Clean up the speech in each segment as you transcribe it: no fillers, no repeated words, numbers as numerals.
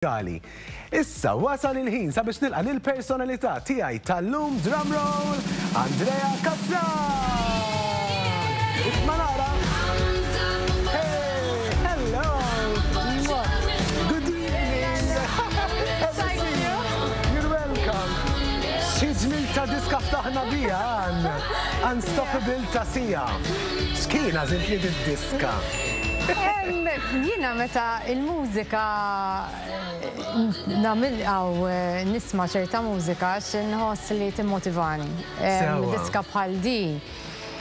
Gali. Issa wasal il-ħin sabiex nilqa' lill-personalità tiegħi tal-lum drumroll Andrea Cassar! Isma' nara! Hey, hello! Good evening! You're welcome! Xi ġmil ta' diska ftaħna biha għan Unstoppable ta' Sia. X'kien għażilt li diska? Jiena meta il-mużika nagħmel għaw nisma' ċerta mużika għax inħoss li timmotivani. Diska bħal di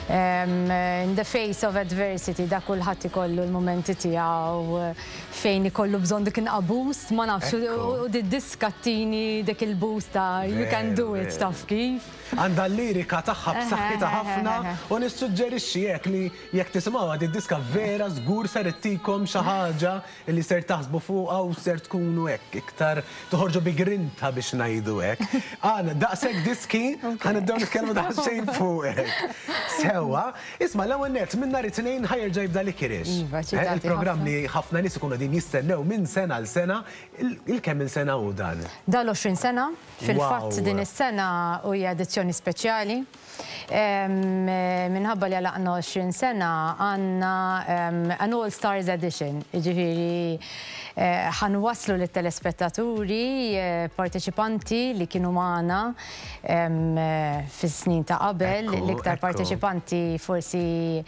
in the face of adversity da kulħadd ikollu l-mumenti tiegħu fejn ikollu bżonn dik inqabus, ma nafx u di diska ttini dik il-boost ta' you can do it taf kif. Għandha l-lirika tagħha b'saħħitha ħafna u nissuġġerixxi hekk li Jekk tisimgħuha did-diska vera żgur ser ittikom xi ħaġa li ser taħsbu fuqha u ser tkunu hekk iktar toħorġu bi grinta biex ngħidu hekk. Għan, daqshekk diski, ħa nibdew nitkellmu daqsxejn fuqek. Sewwa, isma' l-ewwel nett minn nhar it-Tnejn ħa jerġa' jibda Licorice. Iva, ċitati ħafna. Il-programm li ħafna nies ikunu qegħdin jistennew minn sena għal sena, il-kemm-il sena hu dan? Dan l-20 sena, fil-fatt din is-sena hija edizzjoni speċjali. Minħabba li għalaqna 20 sena għandna an All Stars Edition, jiġifieri ħa nwasslu lit-telespettaturi parteċipanti li kienu magħna fis-snin ta' qabel, l-iktar parteċipanti forsi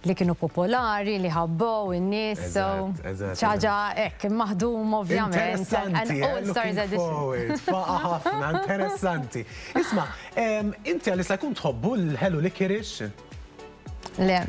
li kienu popolari, li ħabbew in-nies, so xi ħaġa hekk maħduma ovvjament. An All Stars Edition. Faqa' ħafna, interessanti. Isma', Inti għalissa jkun tħobbu l-ħelu licorice? Le.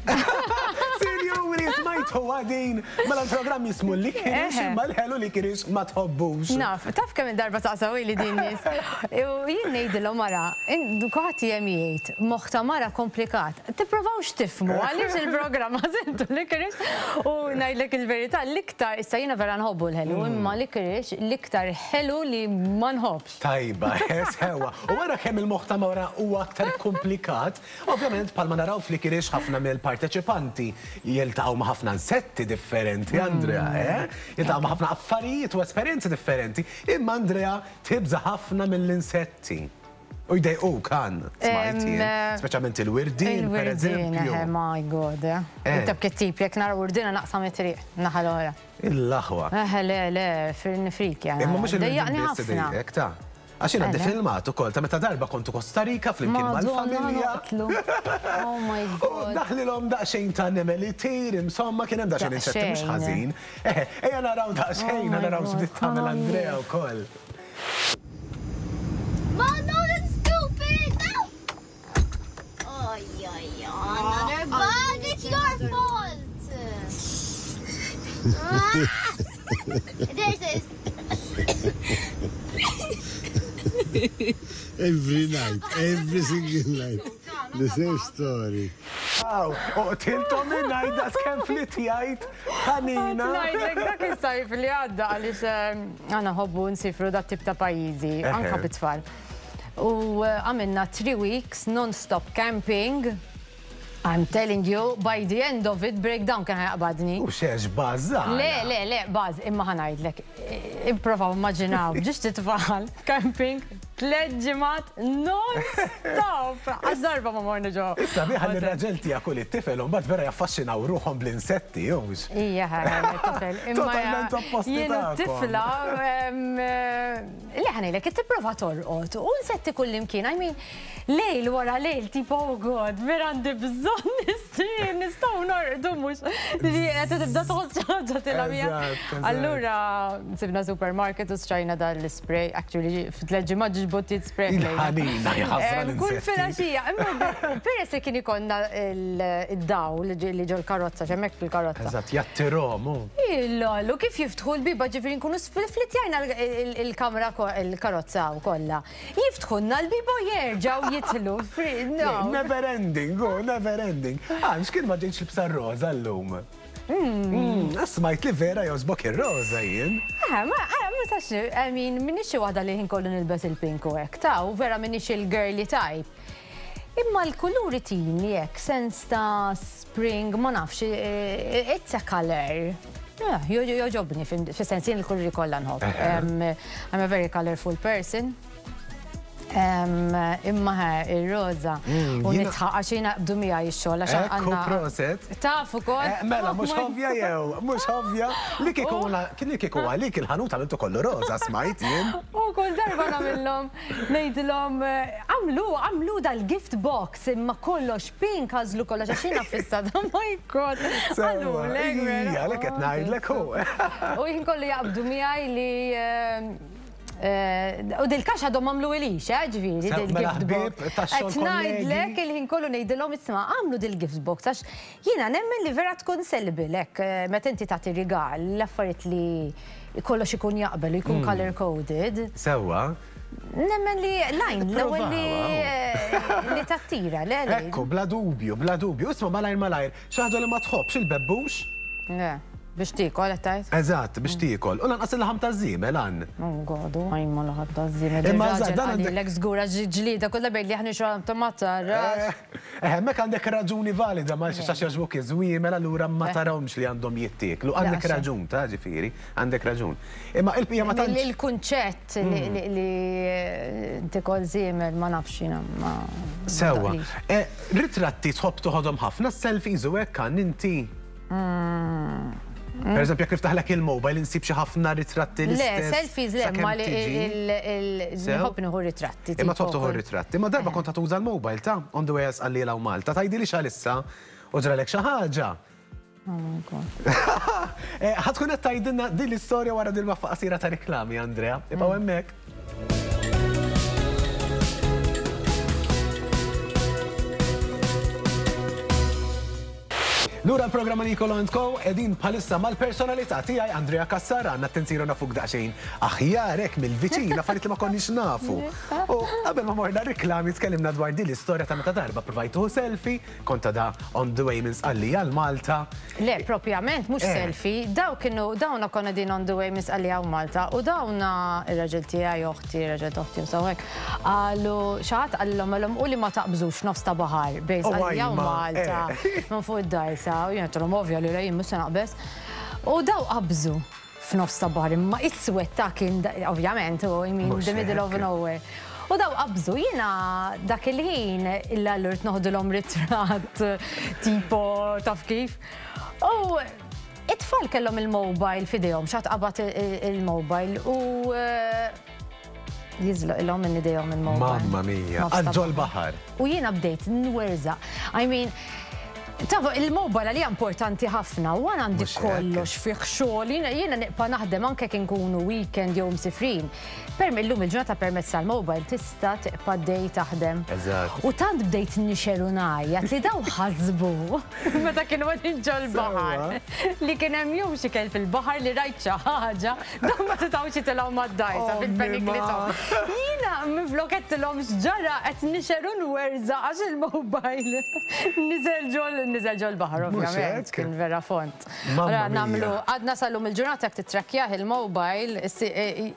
Sinjuri, smajtu għadin. Mela l-programm jismu licorice, imma l-ħelu licorice ma tħobbux. Naf, taf kemm il-darba saqsaw li din nies. U jien ngħidilhom mara, kulħadd jem jgħid, moħħ ta' mara komplikat. Tipprovawx tifhmu għaliex il-programm għażiltu licorice u ngħidlek il-verità l-iktar issa jiena vera nħobbu l-ħelu, imma licorice l-iktar ħelu li ma nħobbx. Tajba, sewwa. U wara kemm il-moħħ ta' mara huwa aktar ikkumplikat, ovvjament bħalma naraw fl-Ikirix ħafna mill-parteċipanti jiltaqgħu ma' ħafna insetti differenti, Andrea, eh? Jiltaqgħu ma' ħafna affarijiet u esperjenzi differenti, imma Andrea tibża' ħafna mill-insetti. U jdejquk, Ann, smajt jien. Speċjalment il-wirdien, pereżempju. Il-wirdien, eh, my God, eh. Inta b'kit tip, jekk nara wirdina naqsam it-triq, naħa l-oħra. Il-aħwa. Eħe le, le, nifrikja. Imma mhux il-wirdien biss idejqek, ta. Għax jien għandi filmat ukoll ta' meta darba kontu Costa Rica flimkien mal-familja. Oh my God. U daħlilhom daqsxejn ta' nemel itir, insomma kien hemm daqsxejn insetti mhux ħażin. Eħe, ejja naraw daqsxejn, naraw x'bdiet tagħmel Andrea wkoll. Mom, no, that's stupid! No! Oh, yeah, yeah, another bug! It's your fault! There it is. Every night, every single night, the same story. Aw, uqtiltom minn daqs kemm flitjajt ħanina. Ngħidlek dak is-sajf li għadda għaliex aħna nħobbu nsifru dat tip ta' pajjiżi, anke bit-tfal. U għamilna 3 weeks non-stop camping. I'm telling you, by the end of it, breakdown kien ħajaqbadni. U xex baż Le, le, le, baż, imma ħa ngħidlek, ipprovaw immaġinaw, ġiex titfal, camping, tlett ġimgħat non-stop! Għax darba ma morna ġo. Issa biħa li r-raġel tiegħek u lit-tifel u mbagħad vera jaffaxxinaw ruħhom bl-insetti, hux? Ija, tifel. Totalment opposti Jien u t-tifla, le ħa ngħidlek, tipprova torqod u insetti kullimkien, I mean, Lejl wara lejl tipo oh God, vera għandi bżonn nistrieħ, nistgħu norqdu mhux li qed tibda tħoss xi ħaġa tilgħab miegħek. Allura sibna supermarket u xtrajna dan l-ispray, actually fi tliet ġimgħat ġiex bottijiet spray. Il-ħanina jħassra l Kull filgħaxija, imma peress li kien ikollna d-dawl li ġol-karozza, x'hemmhekk fil-karozza. Eżatt, jattirhom. Illollu kif jiftħu l-bieba ġifieri nkunu sflittjajna l-kamra il-karozza kollha. Jiftħulna l-bieb u jerġgħu jidħlu. Never ending, oh, never ending. Ah, x'kien ma ġejtx libsa r-roża llum? Mm. Smajt li vera jogħġbok ir-roża jien. Eh, ma eh, ma tax, I mean, minix xi waħda li ħin kollu nilbes il-pink u hekk, ta' u vera minix il-girly type. Imma l-kuluri tini hekk, sens ta' spring, ma nafx, eh, it's a color. Jogħġobni, fis-sens jien il-kuluri kollha nħobb. I'm a very colorful person. Imma ir-roża. U nidħaq għax jiena jaqbdu miegħi x-xogħol għax Ekku proset. Taf ukoll. Mela mhux ovvja jew, mhux ovvja li kieku li kieku għalik il-ħanut għamiltu kollu roża smajt jien. U kull darba nagħmilhom ngħidilhom għamlu għamlu dal-gift box imma kollox pink għażlu kollox għax jiena ffissata ma jkun. Qalulek vera. Ija, għalhekk qed ngħidlek hu. U jien kollu jaqbdu miegħi li U dil-kax għadhom għamlu ilix, eh, ġifieri, mela dil-gift box. Qed ngħidlek il-ħin kollu ngħidilhom isma' għamlu dil-gift box għax jiena nemmen li vera tkun sellable hekk eh, meta inti tagħti rigal l-affarijiet li kollox ikun jaqbel u jkun hmm. color coded. Sewwa. Nemmen li lajn l-ewwel li eh, li tattira, le. Ekku, bla dubju, bla dubju. Isma' malajr malajr, xi ħaġa li ma tħobbx il-bebbux? Le. Biex tiekol qed tgħid? Eżatt, biex tiekol. U lanqas il-laħam taż-żiemel għan. Oh God, u għajn ma laħam taż-żiemel. Imma eżatt, dan għandek. Lek żgur għax ġlieda kollha bejn li aħna xogħol ta' ma tarax. Eh, hemmhekk għandek raġuni valida ma għax jogħġbuk iż-żwiemel allura ma eh. tarahomx li għandhom jittieklu. Għandek raġun ta' ġifieri, għandek raġun. Imma il-bqija ma tantx. Il-kunċett li tikol żiemel ma nafx jiena ma. Sewwa. Eh, ritratti tħobb toħodhom ħafna, selfies u hekk għan inti. Per eżempju, jekk niftaħlek il-mobile insib xi ħafna ritratti l Le, selfies le, ma li nħobb nieħu ritratti. Imma tħobb tieħu ritratti. Ma darba kont tuża l-mobile ta' on the way għalli law Malta. Tgħidili x'għalissa u ġralek xi ħaġa. Oh my God. Eh, ħa tkun qed tgħidilna din l-istorja wara din waqfa qasira ta' riklami, Andrea. Ibqgħu hemmhekk. Lura l-programma Nicolo and Co qegħdin bħalissa mal-personalità tiegħi Andrea Cassar għandna t-tinsiru nafuk daqsxejn aħjar hekk mill-viċin affarijiet li ma konniex nafu. U qabel ma morna riklami tkellimna dwar din l-istorja ta' meta darba provajtu selfie kont da on the way minn Sqallija għal Malta. Le, propjament mhux eh. selfie, daw kienu dawna konna din on the way minn Sqallija u Malta u dawna ir-raġel tiegħi oħti, ir-raġel oħti u sawhekk. Qalu xi ħadd qalilhom qalhom u li ma taqbżux nofs ta' baħar bejn Sqallija u Malta minn fuq id-dgħajsa u jien għedtilhom ovvja li le jien mhux se naqbeż. U daw qabżu f'nofs ta' baħar imma iswed ta' kien ovvjament u I mean the middle of nowhere. U daw qabżu jiena dak il-ħin illa allura noħdilhom ritratt tipo taf kif. U it-tfal kellhom il-mobile f'idejhom, xi ħadd qabad il-mobile u Jiżloqilhom minn idejhom il-mobile. Mamma mia, għal ġol-baħar. U jiena bdejt nwerżaq. I mean, Tafu, il-mobile għalija importanti ħafna u għan għandi kollox fih xogħol, jiena nibqa' naħdem anke kien kunu weekend jew msifrin. Per illum il-ġurnata permezz tal-mobile tista' tibqa' dej taħdem. U tant bdejt nixel u ngħajjat li daw ħasbu meta kienu qegħdin ġol-baħar li kien hemm jew xi kelb fil-baħar li rajt xi ħaġa Dawn ma setgħux jitilgħu mad-dgħajsa bil-panic li taw. Jiena minflok għedtilhom x'ġara qed nixher u nwerżaq għax il-mobile niżel ġol niżel ġol-baħar ovvjament, kien vera fond. Allura nagħmlu għadna sal-lum il-ġurnata jekk tittrakkjah il-mobile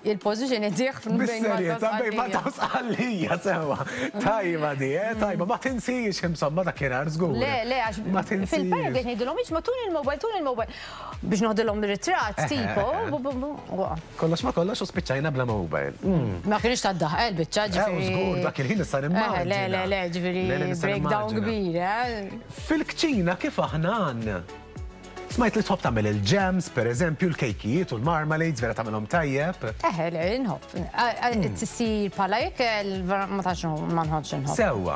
il-position idih bejn Malta u Sqallija. Bejn Malta u Sqallija sewwa. Tajba di, eh, tajba, ma tinsiex insomma dakinhar żgur. Le, le, għax fil-panic qed ngħidilhom isma' tuni l-mobile, tuni l-mobile. Biex noħdilhom ritratt tipo. Kollox ma kollox u spiċċajna bla mobile. Mm. Ma kienx ta' daħ il-biċċa eh, ġifieri. Żgur dak il-ħin issa nimmaġina. Le le le ġifieri breakdown kbir, eh. Fil-kċina kif aħna għandna? Smajt li tħobb tagħmel il-jams, per eżempju, l-kejkijiet u l-marmalades, vera tagħmelhom tajjeb. Eħe, le, nħobb. Tsir bħala ikel, ma tantx ma nħobbx inħobb. Sewwa.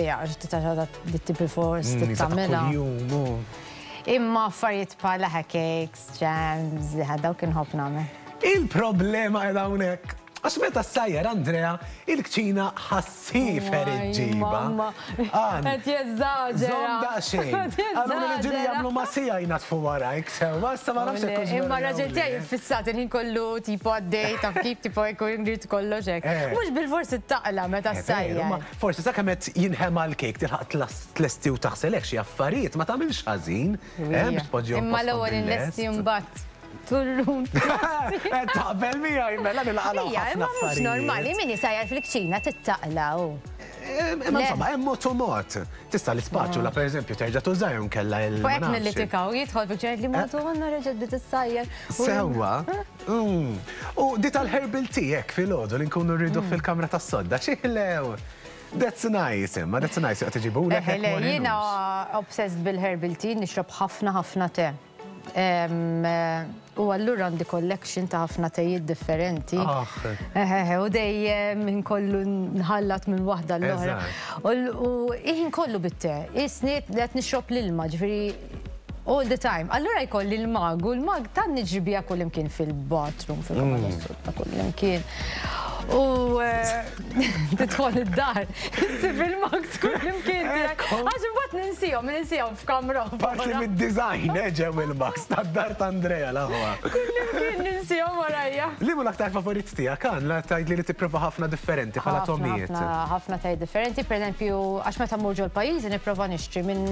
Dejja, titaxħa dit-tipi fors mm, tagħmilha. Imma affarijiet bħal cakes, jams, dawk inħobb nagħmel. Il-problema qiegħda hawnhekk. Għax meta ssajjar Andrea, il-kċina ħassiefer iġġibha. Qed jeżaġera. Żomm daqsxejn. Għallu li ġieli jagħmlu ma' sija jnaddfu warajk sewwa, issa ma nafx hekk. Imma raġel tiegħi ffissat il-ħin kollu tipo għaddej taf kif tipo jkun jrid kollox hekk. Eh. Mhux bilfors ittaqla meta eh, ssajjar. Forsi sakemm qed jinħema l-kejk tilħaq tlesti u taħselek xi affarijiet ma tagħmilx ħażin, eh, biex tpoġġihom Imma l-ewwel inlesti mbagħad turrun. Eh, taqbel miegħi mela nilqalgħu Ija, imma mhux normali min isajjar fil-kċina tittaqla u. Imma insomma, hemm mod u mod. Tista' l-ispaċula pereżempju terġa' tuża jew inkella il. Fuq hekk nillitikaw, jidħol fi ċert li Madonna reġgħet bdiet issajjar. Sewwa. U di tal-herbal tea hekk filgħodu li nkunu rridu fil-kamra tas-sodda, xi ħlew! That's nice, imma that's nice joqgħod iġibulek. Le, jiena obsessed bil-herbal tea, nixrob ħafna ħafna te. U allura għandi collection ta' ħafna tejiet differenti. U dejjem inkollu nħallat minn waħda l-oħra. U ħin kollu bit-te. Isni qed nixrob l-ilma, ġifieri all the time. Allura jkolli l-mug, u l-mug tan niġri biha kullimkien fil-bathroom, fil-kamra tas-sodda, kullimkien. U tidħol id-dar, issib il-mugs kullimkien tiegħek. Għax imbagħad ninsihom, ninsihom f'kamra. Parti mid-design, ġew il-mugs tad-dar ta' Andrea l-aħwa. Kullimkien ninsihom warajja. Liema l-aktar favorit tiegħek, Ann, la tgħidli li tipprova ħafna differenti bħala togħmiet. Ħafna tejiet differenti, pereżempju, għax meta mmur ġol-pajjiżi nipprova nixtri minn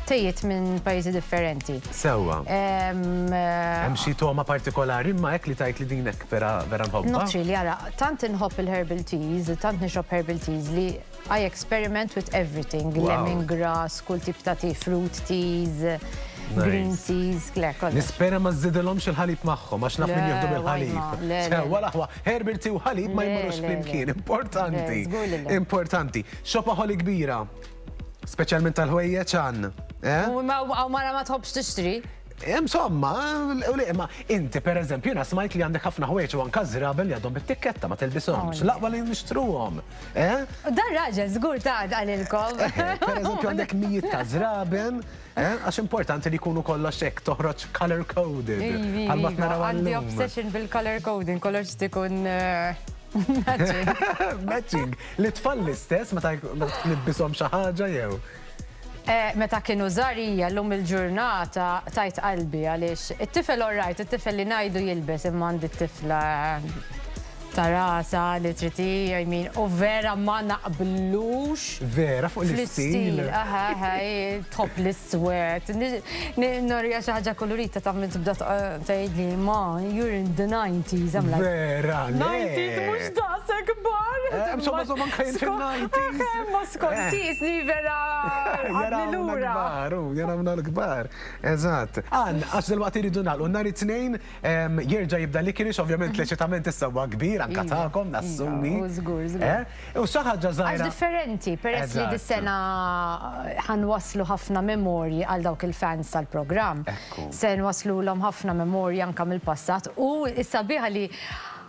tejiet minn pajjiżi differenti. Sewwa. Hemm xi togħma partikolari imma hekk li tgħid li din hekk vera vera nħobbha? Not really, ara, tant inħobb il-herbal teas, tant nixrob herbal teas li I experiment with everything. Lemon grass, kull tip ta' tea, fruit teas, green teas, le, kollox. Nispera ma żżidilhomx il-ħalib magħhom għax naf min jieħdu bil-ħalib. Sewwa l-aħwa, herbal tea u ħalib ma jmorrux flimkien, importanti. Importanti. Shopaholic kbira. Speċjalment tal-ħwejjeġ għan. Eh? U mara ma tħobbx tixtri. Insomma, u li imma inti per eżempju jiena smajt li għandek ħafna ħwejjeġ u anka żraben li għadhom bit-tikketta ma tilbishomx. L-aqwa li nixtruhom. Eh? Dan raġel żgur ta' qalilkom. Per eżempju għandek mijiet ta' żraben, eh? Għax importanti li jkunu kollox hekk toħroġ color coded. Bħalma naraw Għandi obsession bil-color coding, kollox tikun matching. Matching. Li tfal l-istess meta tlibbishom xi ħaġa jew? Meta kienu żgħar hija llum il-ġurnata tajt qalbi għaliex it-tifel all right, it-tifel li ngħidu jilbes imma għandi t-tifla ta' rasha li trid hi, I mean, u vera ma naqblux. Vera fuq l-istil. Aha, aha, tħobb l-iswed. Norija xi ħaġa kolorita ta' minn tibda tgħidli ma, you're in the 90s. I'm like, Vera, le. 90s mhux daqshekk kbar. Insomma, insomma, anke jien fil-90s. Ma skont ni vera għadni lura. Kbar, jarawna l-kbar. Eżatt. Ann, għax dil-waqt iridu nagħlqu nhar it-Tnejn jerġa' jibda Licorice, ovvjament l-eċitament issa huwa kbir anke tagħkom, nassumi. Żgur, żgur. U xi ħaġa żgħira. Għax differenti, peress li dis-sena ħa nwasslu ħafna memorji għal dawk il-fans tal-programm. Se nwasslulhom ħafna memorji anke mill-passat u s-sabiħa li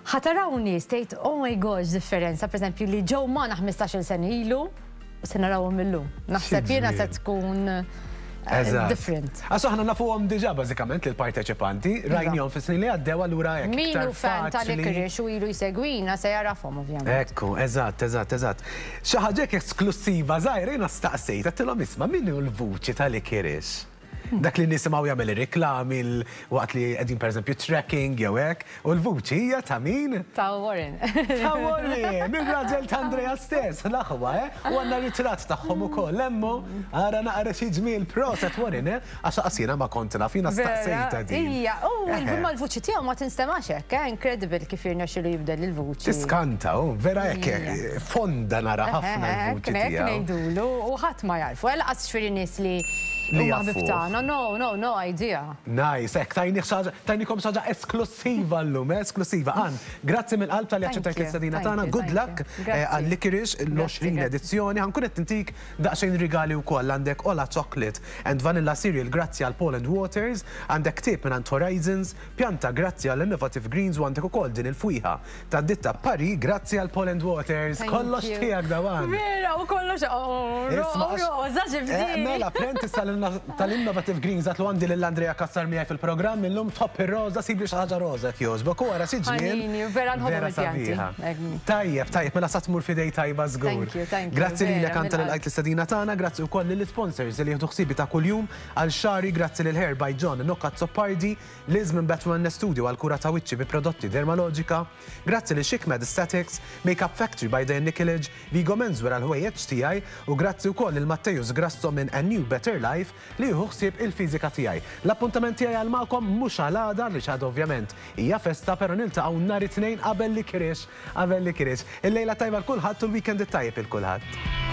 ħa taraw nies tgħid oh my gosh differenza, pereżempju li ġew magħna 15-il sena ilu u se narawhom illum. Naħseb jiena se tkun different. Għax aħna nafuhom diġà bażikament lill-parteċipanti, rajnihom fis-snin li għaddew allura hekk. Min hu fan ta' Licorice u ilu jsegwina se jarafhom ovvjament. Ekku, eżatt, eżatt, eżatt. Xi ħaġa hekk esklussiva żgħira jiena staqsejt, għedtilhom isma' min hu l-vuċi ta' Licorice? Dak li nisimgħu jagħmel ir-riklami waqt li qegħdin pereżempju trekking jew hekk, u l-vuċi hija ta' min? Ta' Warren. Ta' Warren, ir-raġel ta' Andrea stess, l-aħwa, eh? U għandna ritratt tagħhom ukoll, hemmu, ara naqra xi ġmiel, proset Warren, eh? Għax lanqas jiena ma kont naf, jiena staqsejtha din. Ija, u imma l-vuċi tiegħu ma tinstemax hekk, eh? Incredible kif jirnexxilu jibdel il-vuċi. Tiskanta, u vera hekk fonda nara ħafna l-vuċi tiegħu. Hekk ngħidulu, u ħadd ma jarfu, eh, lanqas ġifieri nies li Li huma ħbieb jafuh. tagħna. No, no, no idea. Nice, hekk tajni xaġa, tajnikom xaġa esklussiva llum, eh, esklussiva. Ann, grazzi mill-qalb talli aċċettajt l-istedina tagħna. Good luck għal Licorice l-20 edizzjoni. Ħa nkun qed intik daqsxejn rigali wkoll. Għandek Ola Chocolate and Vanilla Cereal grazzi għal Paul and Waters, għandek ktieb mingħand Horizons, pjanta grazzi għal Innovative Greens u għandek ukoll din il-fwieħa ta' ditta Paris grazzi għal Paul and Waters. Kollox tiegħek dawan. Vera, u kollox, oh, roża ġibti. Mela, apprentice tal-Innovative Greens għatlu għandi lil Andrea Cassar miegħi fil-programm illum tħobb ir-roża, sibli xi ħaġa roża jekk jogħġbok. U ara xi ġmiel. Vera nħobb il-pjanti. Tajjeb, tajjeb, mela sa tmur f'idej tajba żgur. Thank you, thank you. Grazzi lilek Anta li lqajt l-istedina tagħna, grazzi wkoll lill-isponsors li jieħdu ħsiebi ta' kuljum għal xagħri, grazzi lil Hair by John Nocca Azzopardi, Liz minn Bat Wellness Studio għal kura ta' wiċċi bi prodotti Dermalogica, grazzi lil Chic Med Aesthetics, Makeup Factory by Diane Nikolic, Vigo Menswear għall-ħwejjeġ tiegħi u grazzi wkoll lil Matteus Grasso minn A New Better Life. ħafif li jieħu ħsieb il-fiżika tiegħi. L-appuntament tiegħi għal magħkom mhux għal għada għaliex għada ovvjament hija festa però niltaqgħu nhar it-Tnejn qabel l-Ikriex qabel l-Ikriex. Il-lejla t-tajba 'l kulħadd u l-weekend it-tajjeb 'il kulħadd.